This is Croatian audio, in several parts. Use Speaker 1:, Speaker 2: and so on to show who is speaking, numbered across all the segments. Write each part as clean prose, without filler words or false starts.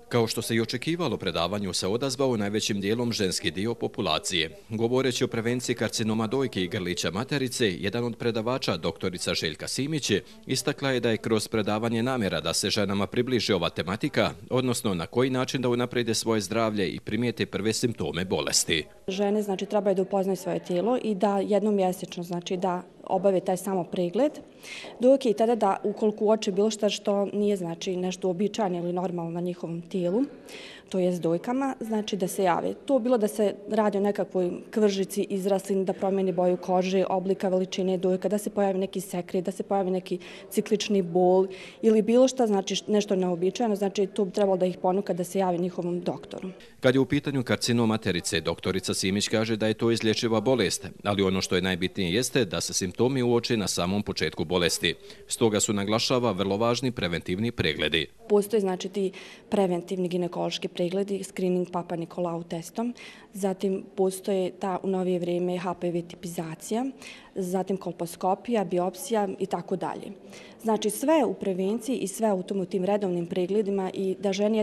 Speaker 1: Kao što se i očekivalo, predavanju se odazvao najvećim dijelom ženski dio populacije. Govoreći o prevenciji karcinoma dojke i grlića materice, jedan od predavača, doktorica Željka Simić, istakla je da je kroz predavanje namjera da se ženama približi ova tematika, odnosno na koji način da unaprede svoje zdravlje i primijete prve simptome bolesti.
Speaker 2: Žene trebaju da upoznaju svoje tijelo i da jednom mjesečno da obave taj samo pregled, dok i tada da ukoliko uoče bilo što nije nešto uobičajeno ili normalno na njihovom tijelu, to jest dojkama, da se jave. To bilo da se radi o nekakvoj kvržici, izraslini, da promijeni boju kože, oblika, veličine dojka, da se pojavi neki sekret, da se pojavi neki ciklični bol ili bilo što, nešto neobičajeno, to bi trebalo da ih ponuka da se javi njihovom doktoru.
Speaker 1: Kad je u pitanju karcinom materice, doktorica Simić kaže da je to izlječiva bolest, ali ono što je najbitnije jeste da se simptomi uoče na samom početku bolesti. Stoga su, naglašava, vrlo važni preventivni pregledi.
Speaker 2: Postoje ti preventivni ginekološki pregledi, screening Papa Nikolau testom, zatim postoje u novije vrijeme HPV tipizacija, zatim kolposkopija, biopsija i tako dalje. Sve u prevenciji i sve u tim redovnim pregledima i da ženama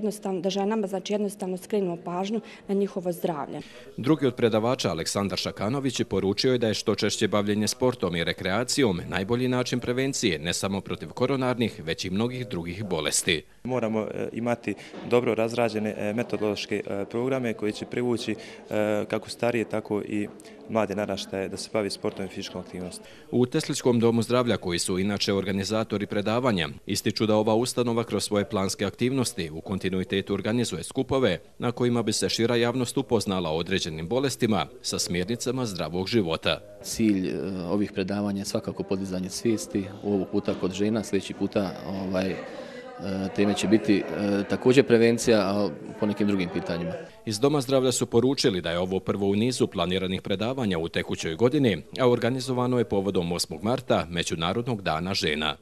Speaker 2: jednostavno skrenemo pažnju na njihovo zdravlje.
Speaker 1: Drugi od predavača, Aleksandar Šakanović, poručio je da je što češće bavljenje sportom i rekreacijom najbolji način prevencije ne samo protiv koronarnih, već i mnogih drugih bolesti.
Speaker 3: Moramo imati dobro razrađene metodološke programe koji će privući kako starije, tako i mlade naraštaje da se bavi sportom i fizičkom aktivnosti.
Speaker 1: U Tesličkom domu zdravlja, koji su inače organizatori predavanja, ističu da ova ustanova kroz svoje planske aktivnosti u kontinuitetu organizuje skupove na kojima bi se šira javnost upoznala o određenim bolestima sa smjernicama zdravog života.
Speaker 4: Cilj ovih predavanja je svakako podizanje svijesti, ovog puta kod žena, sljedeći puta teme će biti također prevencija, a po nekim drugim pitanjima.
Speaker 1: Iz Doma zdravlja su poručili da je ovo prvo u nizu planiranih predavanja u tekućoj godini, a organizovano je povodom 8. marta, Međunarodnog dana žena.